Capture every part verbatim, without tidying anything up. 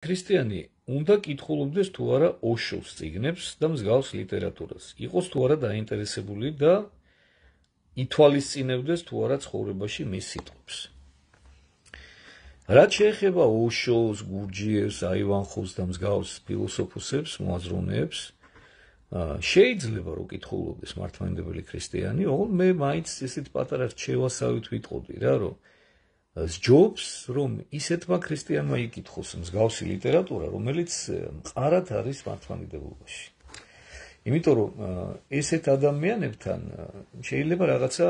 ქრისტიანი უნდა კითხულობდეს თუ არა ოშოს წიგნებს და მსგავს ლიტერატურას. იყოს თუ არა დაინტერესებული და ითვალისწინებდეს თუ არა ცხოვრებაში მის სიტყვებს. რაც შეეხება ოშოს, გურჯიევს, აივანხოვს და მსგავს ფილოსოფოსებს, მოაზროვნეებს, შეიძლება რომ კითხულობდეს მართლმადიდებელი ქრისტიანი, ოღონდ მე მაინც ისეთ პატარა რჩევასავით ვიტყოდი რა, რომ სჯობს, რომ ისეთმა ქრისტიანმა იკითხოს მსგავსი ლიტერატურა, რომელიც მყარად არის მართლმადიდებლობაში. იმიტომ რომ ესეთ ადამიანებთან შეიძლება რაღაცა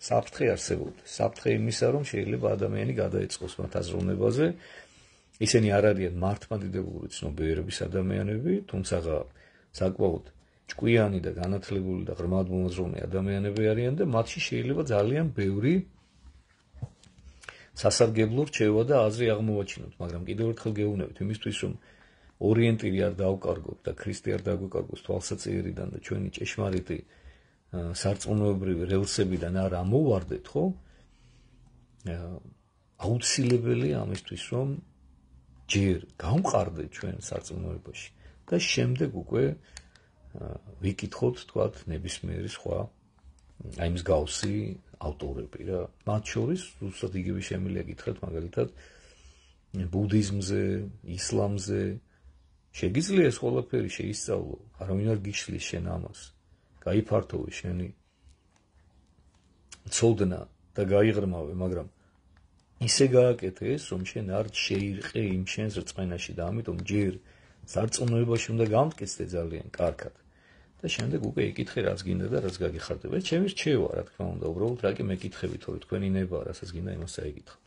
საფრთხე არსებობდეს. საფრთხე იმისა, რომ შეიძლება ადამიანი გადაეწყოს მათ აზროვნებაზე. ისინი არ არიან მართლმადიდებლური ცნობიერების ადამიანები, თუმცა საკმაოდ ჭკვიანი და განათლებული და ღრმად მოაზროვნე ადამიანები არიან და მათში შეიძლება ძალიან ბევრი სასარგებლო რჩევა და აზრი აღმოვაჩინოთ, მაგრამ კიდევ ერთხელ გეუბნებით იმისთვის, რომ ორიენტირი არ დავკარგოთ და ქრისტე არ დაგვეკარგოს თვალსაჩინარიდან და ჩვენი ჭეშმარიტი სარწმუნოებრივი რელსებიდან არ ამოვარდეთ, ხო? აუცილებელია ამისთვის, რომ ჯერ გავმყარდეთ ჩვენ სარწმუნოებაში და შემდეგ უკვე ვიკითხოთ, თქვათ, ნებისმიერი სხვა აი მსგავსი ავტორები რა. მათ შორის ზუსტად იგივე შემიძლია გითხრათ მაგალითად ბუდიზმზე, ისლამზე. შეგიძლია ეს ყველაფერი შეისწავლო, არავინ არ გიშლის შენ ამას. გაიფართოვე შენი ცოდნა და გაიღრმავე, მაგრამ ისე გააკეთე ეს, რომ შენ არ შეირყე იმ შენს რწმენაში და ამიტომ ჯერ სარწმუნოებაში უნდა გამტკიცდე ძალიან კარგად. და შემდეგ უკვე იკითხე რაც გინდა და რაც გაგიხარდება. ეს ჩემი რჩევა, რა თქმა უნდა, უბრალოდ რა კი მეკითხები, თორე თქვენი ნება, რასაც გინდა იმას აიკითხო.